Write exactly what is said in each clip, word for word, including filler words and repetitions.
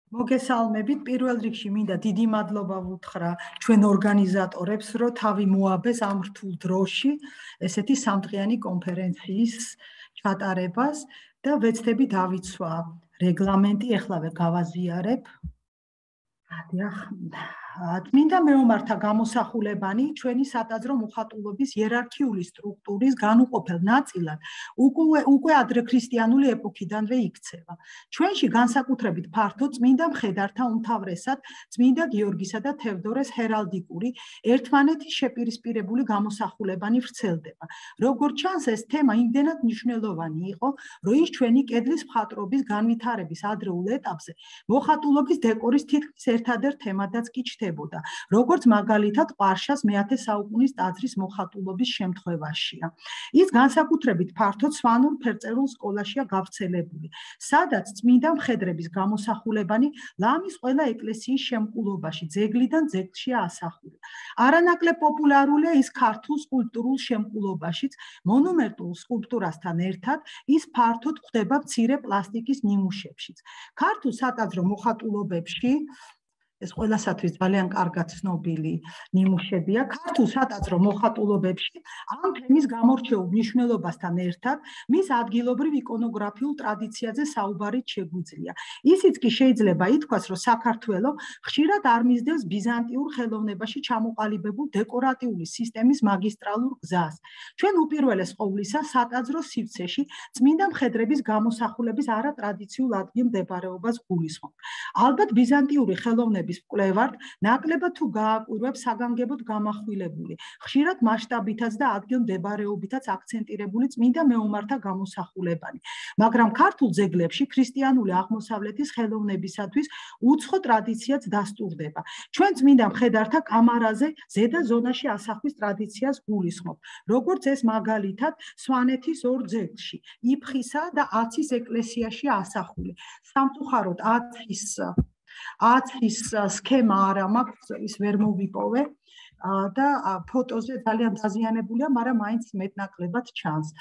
მოგესალმებით, პირველ რიგში მინდა დიდი მადლობა ვუთხრა ჩვენ ორგანიზატორებს, რომ თავი მოაბეს ამ რთულ დროში ესეთი სამდღიანი კონფერენციის ჩატარებას და ვეცდები დავიცვა რეგლამენტი, ეხლავე გავაზიარებ. წმინდა მეომართა გამოსახულებანი ჩვენი სატაძრო მოხატულობის იერარქიული სტრუქტურის განუყოფელ ნაწილად უკვე უკვე ადრექრისტიანული ეპოქიდანვე იქცევა. ჩვენში განსაკუთრებით ფართო წმინდა მხედართა უმთავრესად წმინდა გიორგისა და თევდორეს ჰერალდიკური ერთმანეთის შეპირისპირებული გამოსახულებანი ვრცელდება. როგორც ჩანს, ეს თემა იმდენად მნიშვნელოვანი იყო, რომ ის ჩვენი კედლის მხატვრობის განვითარების ადრეულ ეტაპზე მოხატულობის დეკორის თითქმის ერთადერთ თემადაც კი ჩნდებოდა, როგორც მაგალითად ყვარშას მეათე საუკუნის ტაძრის მოხატულობის შემთხვევაშია. ის განსაკუთრებით ფართო სვანურ ფერწერულ სკოლაშია გავრცელებული, სადაც წმინდა მხედრების გამოსახულებანი ლამის ყველა ეკლესიის შემკულობაში ძეგლიდან ძეგლშია ასახული. არანაკლებ პოპულარულია ის ქართულ სკულპტურულ შემკულობაშიც, მონუმენტურ სკულპტურასთან ერთად ის ფართოდ გვხვდება მცირე პლასტიკის ნიმუშებშიც. ქართულ სატაძრო მოხატულობებში ეს ყველასათვის ძალიან კარგად ცნობილი ნიმუშებია. ქართულ სატაძრო მოხატულობებში ამ თემის გამორჩეულ მნიშვნელობასთან ერთად მის ადგილობრივ იკონოგრაფიულ ტრადიციაზე საუბარიც შეგვიძლია. ისიც კი შეიძლება ითქვას, რომ საქართველო ხშირად არ მისდევს ბიზანტიურ ხელოვნებაში ჩამოყალიბებულ დეკორატიული სისტემის მაგისტრალურ გზას. ჩვენ უპირველეს ყოვლისა სატაძრო სივრცეში წმინდა მხედრების გამოსახულების არატრადიციულ ადგილმდებარეობას გულისხმობთ. ალბათ ბიზანტიური ხელოვნების მკვლევართ ნაკლებად თუ გააკვირვებს საგანგებოდ გამახვილებული, ხშირად მასშტაბითაც და ადგილმდებარეობითაც აქცენტირებული წმინდა მეომართა გამოსახულებანი, მაგრამ ქართულ ძეგლებში ქრისტიანული აღმოსავლეთის ხელოვნებისათვის უცხო ტრადიციაც დასტურდება. ჩვენ წმინდა მხედართა კამარაზე ზედა ზონაში ასახვის ტრადიციას გულისხმობთ, როგორც ეს მაგალითად სვანეთის ორ ძეგლში, იფხისა და აცის ეკლესიაში ასახული. სამწუხაროდ აცის აცის სქემა არა მაქვს, ის ვერ მოვიპოვე და ფოტოზე ძალიან დაზიანებულია, მაგრამ მაინც მეტნაკლებად ჩანს.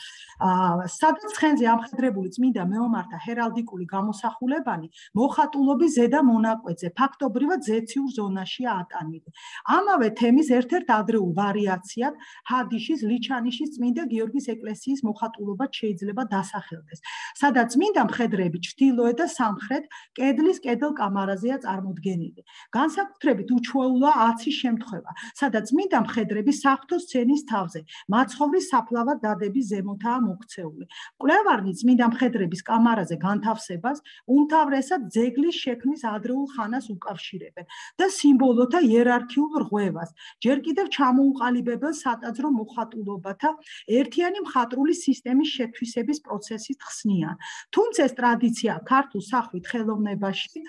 სადაც ცხენზე ამხედრებული წმინდა მეომართა ჰერალდიკური გამოსახულებანი მოხატულობის ზედა მონაკვეთზე, ფაქტობრივად ზეციურ ზონაშია ატანილი. ამავე თემის ერთ-ერთ ადრეულ ვარიაციად ჰადიშის ლიჩანიშის წმინდა გიორგის ეკლესიის მოხატულობაც შეიძლება დასახელდეს, სადაც წმინდა მხედრები ჩრდილოეთ და სამხრეთ კედლის კედელკამარაზეა წარმოდგენილი. განსაკუთრებით უჩვეულოა აცის შემთხვევა, სადაც წმინდა მხედრები საღვთო სცენის თავზე მაცხოვრის საფლავად დადების ზემოთაა მოქცეული. მკვლევარნი წმინდა მხედრების კამარაზე განთავსებას უმთავრესად ძეგლის შექმნის ადრეულ ხანას უკავშირებენ და სიმბოლოთა იერარქიულ რღვევას, ჯერ კიდევ ჩამოუყალიბებელ სატაძრო მოხატულობათა ერთიანი მხატვრული სისტემის შეთვისების პროცესით ხსნიან. თუმცა ეს ტრადიცია ქართულ სახვით ხელოვნებაში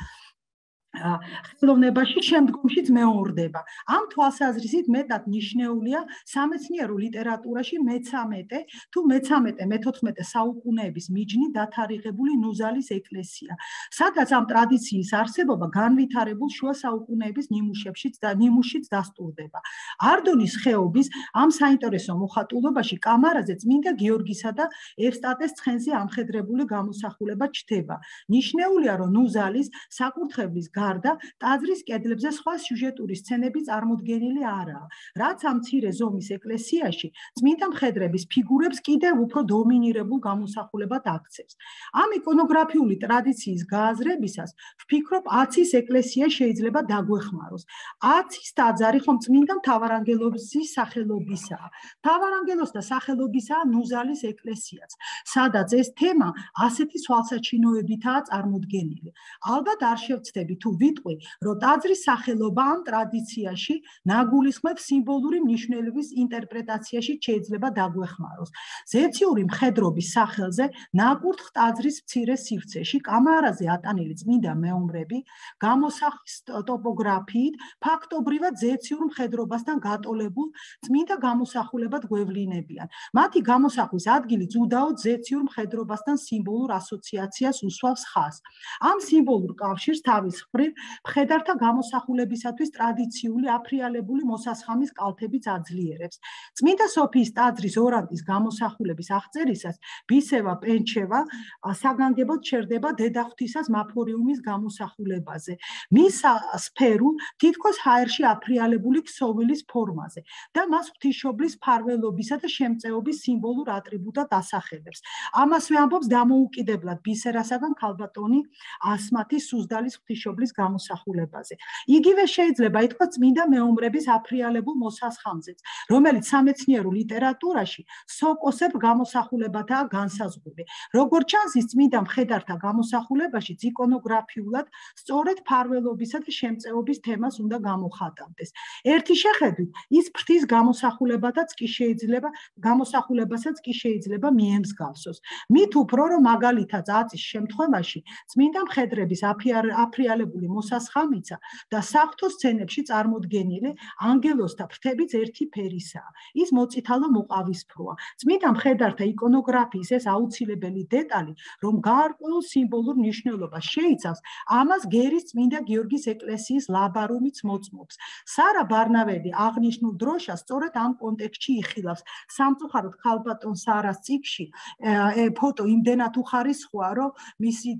ხელოვნებაში შემდგომშიც მეორდება. ამ თვალსაზრისით მეტად ნიშნეულია სამეცნიერო ლიტერატურაში მეცამეტე თუ მეცამეტე-მეთოთხმეტე საუკუნეების მიჯნით დათარიღებული ნუზალის ეკლესია, სადაც ამ ტრადიციის არსებობა განვითარებულ შუა საუკუნეების ნიმუშებშიც და ნიმუშიც დასტურდება. არდონის ხეობის ამ საინტერესო მოხატულობაში კამარაზე წმინდა გიორგისა და ევსტატეს ცხენზე ამხედრებული გამოსახულება ჩნდება. ნიშნეულია, რომ ნუზალის საკურთხევლის გარდა ტაძრის კედლებზე სხვა სიუჟეტური სცენები წარმოდგენილი არაა, რაც ამ მცირე ზომის ეკლესიაში წმინდა მხედრების ფიგურებს კიდევ უფრო დომინირებულ გამოსახულებად აქცევს. ამ იკონოგრაფიული ტრადიციის გააზრებისას ვფიქრობ, აცის ეკლესია შეიძლება დაგვეხმაროს. აცის ტაძარი ხომ წმინდა მთავარანგელოზის სახელობისაა. მთავარანგელოზთა სახელობისაა ნუზალის ეკლესიაც, სადაც ეს თემა ასეთი თვალსაჩინოებითაა წარმოდგენილი. ალბათ არ შევცდები თუ ვიტყვი, რომ ტაძრის სახელობა ამ ტრადიციაში ნაგულისხმებს სიმბოლური მნიშვნელობის ინტერპრეტაციაში შეიძლება დაგვეხმაროს. ზეციური მხედრობის სახელზე ნაკურთხ ტაძრის მცირე სივრცეში კამარაზე ატანილი წმინდა მეომრები გამოსახვის ტოპოგრაფიით ფაქტობრივად ზეციურ მხედრობასთან გატოლებულ წმინდა გამოსახულებად გვევლინებიან. მათი გამოსახვის ადგილიც უდაოდ ზეციურ მხედრობასთან სიმბოლურ ასოციაციას უსვავს ხაზს. ამ სიმბოლურ კავშირს თავის მხრივ, მხედართა გამოსახულებისათვის ტრადიციული აფრიალებული მოსასხამის კალთებიც აძლიერებს. წმინდა სოფიის ტაძრის ორანტის გამოსახულების აღწერისას ბისევა პენჩევა საგანგებოდ ჩერდება დედაღვთისას მაფორიუმის გამოსახულებაზე. მის სფერულ, თითქოს ჰაერში აფრიალებული ქსოვილის ფორმაზე და მას ღვთისმშობლის მფარველობისა და შემწეობის სიმბოლურ ატრიბუტად ასახელებს. ამასვე ამბობს დამოუკიდებლად ბისერასაგან ქალბატონი ასმათის სუზდალის ღვთისმშობლის გამოსახულებაზე. იგივე შეიძლება ითქვას წმინდა მეომრების აფრიალებულ მოსასხამზეც, რომელიც სამეცნიერო ლიტერატურაში სოკოსებ გამოსახულებათაა განსაზღვრული. როგორც ჩანს, ის წმინდა მხედართა გამოსახულებაში იკონოგრაფიულად სწორედ მფარველობისა და შემწეობის თემას უნდა გამოხატავდეს. ერთი შეხედვით, ის ფრთის გამოსახულებათაც კი შეიძლება გამოსახულებასაც კი შეიძლება მიემსგავსოს. მით უფრო რომ მაგალითად აწის შემთხვევაში წმინდა მხედრების აფრიალებული მოსასხამიცა და საღვთო სცენებში წარმოდგენილი ანგელოზთა ფრთებიც ერთი ფერისაა. ის მოწითალო მოყავისფროა. წმინდა მხედართა იკონოგრაფიის ეს აუცილებელი დეტალი, რომ გაარკვეულ სიმბოლურ მნიშვნელობას შეიცავს, ამას გერის წმინდა გიორგის ეკლესიის ლაბარუმიც მოწმობს. სარა ბარნაველი აღნიშნულ დროშას სწორედ ამ კონტექსტში იხილავს. სამწუხაროდ ქალბატონ სარას წიგნში ფოტო იმდენად უხარისხოა, რომ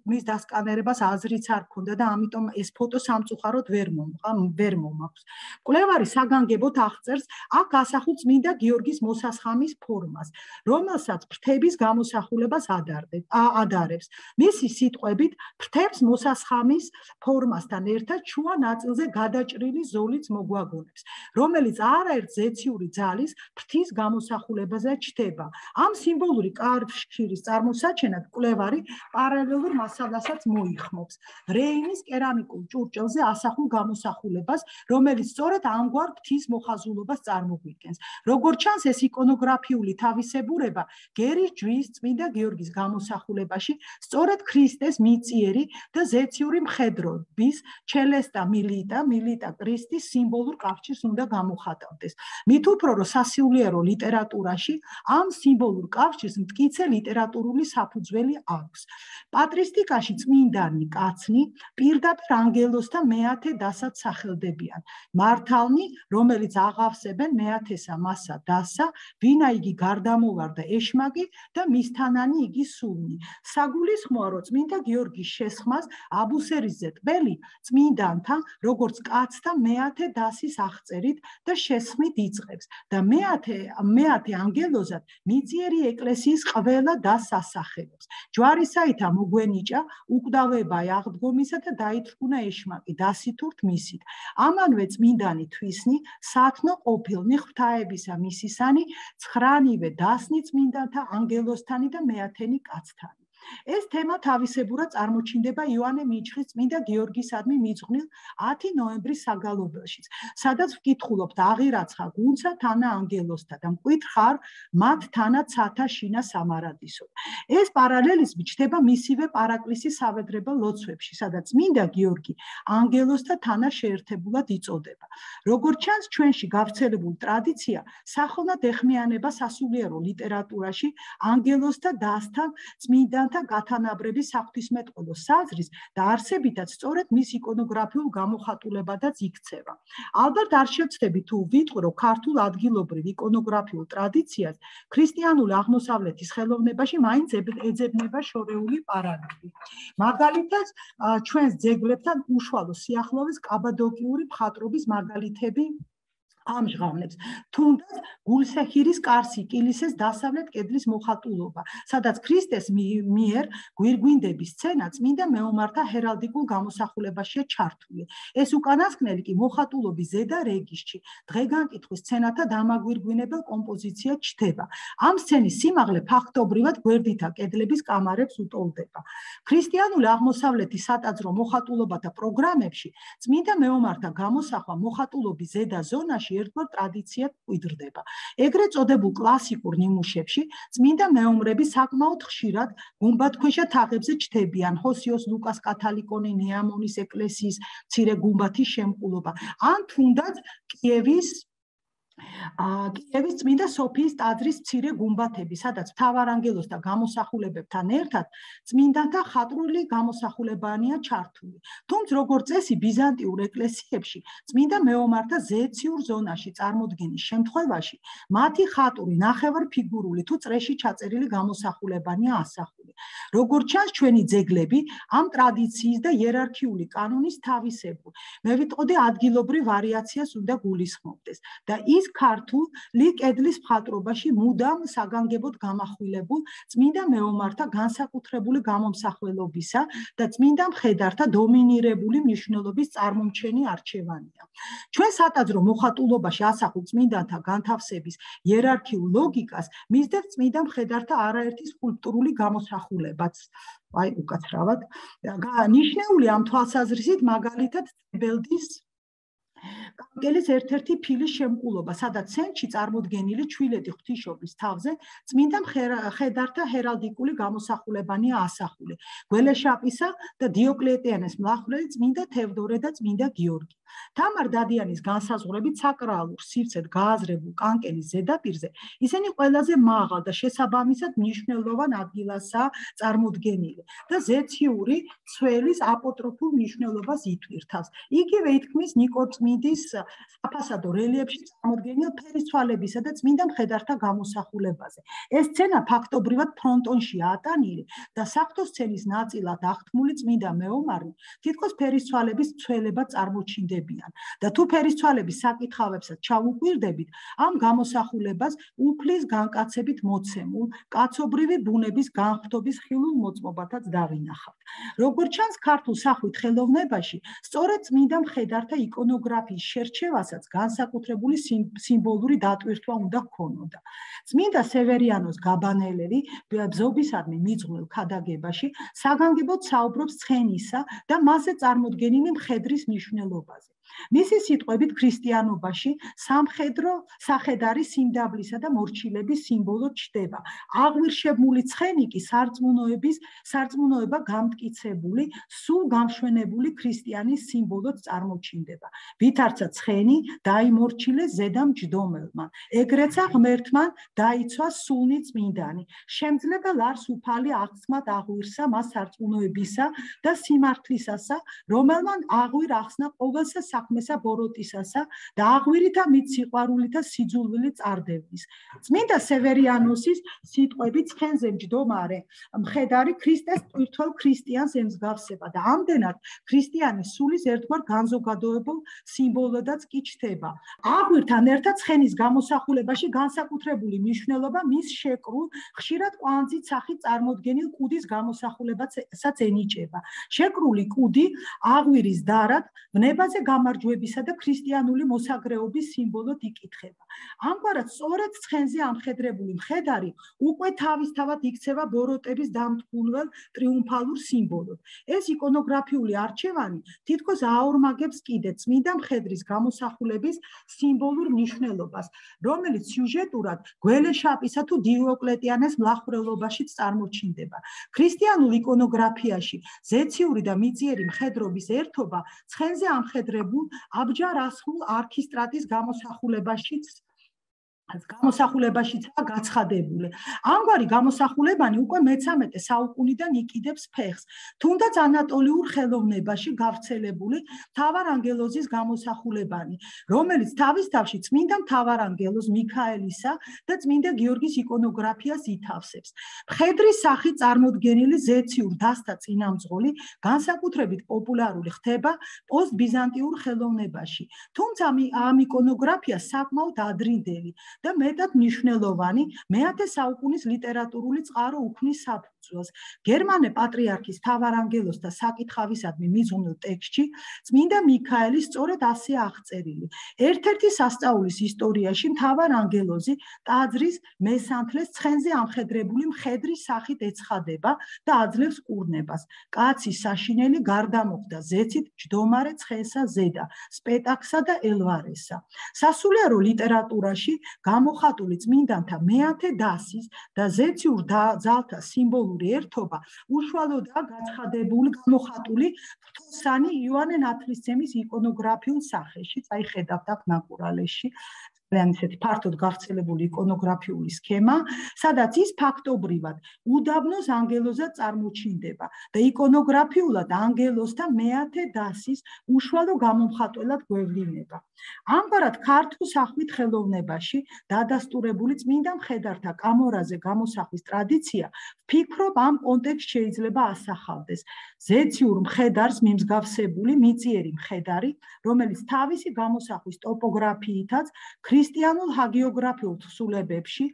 მის დასკანერებას აზრიც არ ქონდა და ამიტომ ეს ფოტო სამწუხაროდ ვერ მომაქვს. მკვლევარი საგანგებოდ აღწერს აქ ასახულ წმინდა გიორგის მოსასხამის ფორმას, რომელსაც ფრთების გამოსახულებას ადარებს. მისი სიტყვებით, ფრთებს მოსასხამის ფორმასთან ერთად შუა ნაწილზე გადაჭრილი ზოლიც მოგვაგონებს, რომელიც არაერთ ზეციური ძალის ფრთის გამოსახულებაზე ჩდება. ამ სიმბოლური კავშირის წარმოსაჩენად მკვლევარი პარალელურ მასალასაც მოიხმობს. რეინის კერამიკულ ჭურჭელზე ასახულ გამოსახულებას, რომელიც სწორედ ამგვარ ფრთის მოხაზულობას წარმოგვიდგენს. როგორც ჩანს, ეს იკონოგრაფიული თავისებურება გერის ჯვრის წმინდა გიორგის გამოსახულებაში სწორედ ქრისტეს მიწიერი და ზეციური მხედრობის ჩელესტა მილიტა მილიტა ქრისტის სიმბოლურ კავშირს უნდა გამოხატავდეს. მით უფრო რომ სასულიერო ლიტერატურაში ამ სიმბოლურ კავშირს მტკიცე ლიტერატურული საფუძველი აქვს. პატრისტიკაში წმინდანი კაცნი პირდაპირ ანგელოზთა მეათე დასად სახელდებიან. მართალნი, რომელიც აღავსებენ მეათესა მასა დასა, ვინა იგი გარდამოვარდა ეშმაკი და მისთანანი იგი სულნი. საგულისხმოა, რომ წმინდა გიორგის შესხმას აბუსერისზე ტბელი წმინდანთან, როგორც კაცთა მეათე დასის აღწერით და შესხმით იწყებს და მეათე მეათე ანგელოზად მიწიერი ეკლესიის ყველა დასს ასახელებს. ჯვარისაითა მოგვენიჭა უკვდავება აღდგომისა და დაითრგუნა ეშმაკი დასითურთ მისით. ამანვე წმინდანი თვისნი, სათნო ყოფილნი ღვთაებისა მისისანი, ცხრანივე დასნი წმინდანთა ანგელოზთანი და მეათენი კაცთანი. ეს თემა თავისებურად წარმოჩინდება იოანე მიჩხის წმინდა გიორგისადმი მიძღვნილ ათი ნოემბრის საგალობელშიც, სადაც ვკითხულობთ აღირაცხა გუნცა თანა ანგელოზთა და მკვითხარ მათ თანა ცათა შინა სამარადისო. ეს პარალელიზმი ჩნდება მისივე პარაკლისის სავედრებელ ლოცვებში, სადაც წმინდა გიორგი ანგელოზთა თანა შეერთებულად იწოდება. როგორც ჩანს, ჩვენში გავრცელებულ ტრადიცია სახელოვნად ეხმიანება სასულიერო ლიტერატურაში ანგელოზთა დასთან წმინდანთა გათანაბრების საღვთისმეტყველო საზრის და არსებითაც სწორედ მის იკონოგრაფიულ გამოხატულებადაც იქცევა. ალბათ არ შევცდები თუ ვიტყვი, რომ ქართულ ადგილობრივ იკონოგრაფიულ ტრადიციას ქრისტიანული აღმოსავლეთის ხელოვნებაში მაინც ეძებნება შორეული პარალელი. მაგალითად, ჩვენს ძეგლებთან უშუალო სიახლოვეს კაბადოკიური მხატვრობის მაგალითები ამჟღავნებს. თუნდაც გულსეხირის კარსი კილისეს დასავლეთ კედლის მოხატულობა, სადაც ქრისტეს მიერ გვირგვინდების სცენა წმინდა მეომართა ჰერალდიკულ გამოსახულებაშია ჩართული. ეს უკანასკნელი კი მოხატულობის ზედა რეგისტრში დღეგანკითხვის სცენათა დამაგვირგვინებელ კომპოზიციად ჩნდება. ამ სცენის სიმაღლე ფაქტობრივად გვერდითა კედლების კამარებს უტოლდება. ქრისტიანული აღმოსავლეთის სატაძრო მოხატულობათა პროგრამებში წმინდა მეომართა გამოსახვა მოხატულობის ზედა ზონაში ერთგვარ ტრადიციად მკვიდრდება. ეგრეთ წოდებულ კლასიკურ ნიმუშებში წმინდა მეომრები საკმაოდ ხშირად გუმბათქვეშა თაღებზე ჩნდებიან, ჰოსიოს ლუკას კათალიკონი ნეამონის ეკლესიის მცირე გუმბათის შემკულობა, ან თუნდაც კიევის კიევის წმინდა სოფიის ტაძრის მცირე გუმბათები, სადაც მთავარანგელოს და გამოსახულებებთან ერთად წმინდანთა ხატრული გამოსახულებანია ჩართული. თუმცა როგორც წესი ბიზანტიურ ეკლესიებში წმინდა მეომართა ზეციურ ზონაში წარმოდგენის შემთხვევაში მათი ხატური ნახევარფიგურული თუ წრეში ჩაწერილი გამოსახულებანია ასახული. როგორც ჩანს ჩვენი ძეგლები ამ ტრადიციის და იერარქიული კანონის თავისებურ, მე ვიტყოდი ადგილობრივ ვარიაციას უნდა გულისხმობდეს და ის ქართული კედლის მხატვრობაში მუდამ საგანგებოდ გამახვილებულ წმინდა მეომართა განსაკუთრებული გამომსახველობისა და წმინდა მხედართა დომინირებული მნიშვნელობის წარმომჩენი არჩევანია. ჩვენ სატაძრო მოხატულობაში ასახულ წმინდანთა განთავსების იერარქიულ ლოგიკას მისდევს წმინდა მხედართა არაერთი სკულპტურული გამოსახულებაც. აი უკაცრავად ნიშნეული ამ თვალსაზრისით მაგალითად ბელდის კანკელის ერთ-ერთი ფილის შემკულობა, სადაც ცენტრში წარმოდგენილი ჩვილედი ღვთისმშობლის თავზე წმინდა მხედართა ჰერალდიკური გამოსახულებანია ასახული. გველეშაპისა და დიოკლეტიანეს მლახვრელი წმინდა თევდორე და წმინდა გიორგი. თამარ დადიანის განსაზღვრებით საკრალურ სივრცედ გააზრებულ კანკელის ზედაპირზე ისინი ყველაზე მაღალ და შესაბამისად მნიშვნელოვან ადგილასაა წარმოდგენილი და ზეციური ცველის აპოტროფულ მნიშვნელობას ითვირთავს. იგივე ითქმის ნიკორწმინდის საფასადო რელიეფში წარმოდგენილ ფერისცვალებისა და წმინდა მხედართა გამოსახულებაზე. ეს სცენა ფაქტობრივად ფრონტონშია ატანილი და საღვთო სცენის ნაწილად აღთქმული წმინდა მეომარი თითქოს ფერისცვალების ცველება წარმოჩინდება. და თუ ფერისცვალების საკითხავებსაც ჩავუკვირდებით, ამ გამოსახულებას უფლის განკაცებით მოცემულ კაცობრივი ბუნების განხვრთობის ხილულ მოწმობათაც დავინახავთ. როგორც ჩანს, ქართულ სახვით ხელოვნებაში სწორედ წმინდა მხედართა იკონოგრაფიის შერჩევასაც განსაკუთრებული სიმბოლური დატვირთვა უნდა ჰქონოდა. წმინდა სევერიანოს გაბანელელი ბზობისადმი მიძღვნილ ქადაგებაში საგანგებოდ საუბრობს ცხენისა და მასზე წარმოდგენილი მხედრის მნიშვნელობაზე. მისი სიტყვებით ქრისტიანობაში სამხედრო სახედარი სიმდაბლისა და მორჩილების სიმბოლოდ ჩნდება. აღვირშებული ცხენი კი სარწმუნოების სარწმუნოება გამტკიცებული, სულ გამშვენებული ქრისტიანის სიმბოლოდ წარმოჩინდება. ვითარცა ცხენი დაიმორჩილეს ზედა მჯდომელმა, ეგრეცა ღმერთმა დაიცვა სულნი წმინდანი. შემძლებელ არს უფალი აღსმად აღვირსა მას სარწმუნოებისა და სიმართლისასა, რომელმან აღვირ ახსნა ყოველსა საქმესა ბოროტისასა და აღვირითა მით სიყვარულითა სიძულვილი წარდევნის. წმინდა სევერიანოსის სიტყვებით ცხენზე მჯდომარე მხედარი ქრისტეს ტვირთვალ ქრისტიანს ემსგავსება და ამდენად ქრისტიანის სულის ერთგვარ განზოგადოებულ სიმბოლოდაც კი ჩნდება. აღვირთან ერთად ცხენის გამოსახულებაში განსაკუთრებული მნიშვნელობა მის შეკრულ, ხშირად კვანძით სახით წარმოდგენილ კუდის გამოსახულებასაც ენიჭება. შეკრული კუდი აღვირის დარად ვნებაზე გამარჯვებისა და ქრისტიანული მოსაგრეობის სიმბოლოდ იკითხება. ამგვარად სწორედ ცხენზე ამხედრებული მხედარი უკვე თავისთავად იქცევა ბოროტების დამტკუნველ ტრიუმფალურ სიმბოლოდ. ეს იკონოგრაფიული არჩევანი თითქოს აორმაგებს კიდე წმინდა მხედრის გამოსახულების სიმბოლურ მნიშვნელობას, რომელიც სიუჟეტურად გველეშაპისა თუ დიოკლეტიანეს მლახვრელობაშიც წარმოჩინდება. ქრისტიანულ იკონოგრაფიაში ზეციური და მიწიერი მხედრობის ერთობა ცხენზე ამხედრებულ აბჯარ-ასხულ არქისტრატის გამოსახულებაშიც გამოსახულებაშიცაა გაცხადებული. ამგვარი გამოსახულებანი უკვე მეცამეტე საუკუნიდან იკიდებს ფეხს, თუნდაც ანატოლიურ ხელოვნებაში გავრცელებული მთავარანგელოზის გამოსახულებანი, რომელიც თავის თავში წმინდა მთავარანგელოზ მიქაელისა და წმინდა გიორგის იკონოგრაფიას ითავსებს. მხედრის სახით წარმოდგენილი ზეციურ დასთა წინამძღოლი განსაკუთრებით პოპულარული ხდება პოსტბიზანტიურ ხელოვნებაში, თუმცა ამ იკონოგრაფია საკმაოდ ადრინდელი და მეტად მნიშვნელოვანი მეათე საუკუნის ლიტერატურული წყარო უქმნის საფუძველს. გერმანე პატრიარქის მთავარანგელოზთა საკითხავისადმი მიძღვნილ ტექსტში წმინდა მიქაელი სწორედ ასეა აღწერილი. ერთ-ერთი სასწაულის ისტორიაში მთავარანგელოზი ტაძრის მესანთლეს ცხენზე ამხედრებული მხედრის სახით ეცხადება და აძლევს კურნებას. კაცი საშინელი გარდა მოხდა ზეცით ჯდომარე ცხენსა ზედა, სპეტაქსა და ელვარესა. სასულიერო ლიტერატურაში გამოხატული წმინდანთა მეათე დასის და ზეციურ ძალთა სიმბოლური ერთობა უშუალოდაა გაცხადებული გამოხატული ღვთოსანი იოანე ნათლისმცემლის იკონოგრაფიულ სახეში, აი ხედავთ აქ ნაკურალეში. ძალიან ისეთი ფართოდ გავრცელებული იკონოგრაფიული სქემა, სადაც ის ფაქტობრივად უდაბნოს ანგელოზად წარმოჩინდება და იკონოგრაფიულად ანგელოზთა მეათე დასის უშუალო გამომხატველად გვევლინება. ამგვარად ქართულ სახვით ხელოვნებაში დადასტურებული წმინდა მხედართა კამორაზე გამოსახვის ტრადიცია ვფიქრობ ამ კონტექსტში შეიძლება ასახავდეს ზეციურ მხედარს მიმსგავსებული მიწიერი მხედარი, რომელიც თავისი გამოსახვის ტოპოგრაფიითაც ქრისტიანულ ჰაგიოგრაფიულ თხზულებებში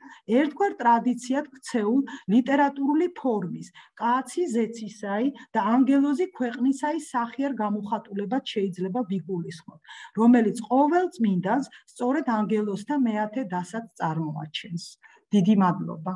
ერთგვარ ტრადიციად ქცეულ ლიტერატურული ფორმის, კაცი ზეცისაი და ანგელოზი ქვეყნისაი სახიერ გამოხატულებად შეიძლება ვიგულისხმოთ, რომელიც ყოველ წმინდანს სწორედ ანგელოზთა მეათე დასად წარმოაჩენს. დიდი მადლობა.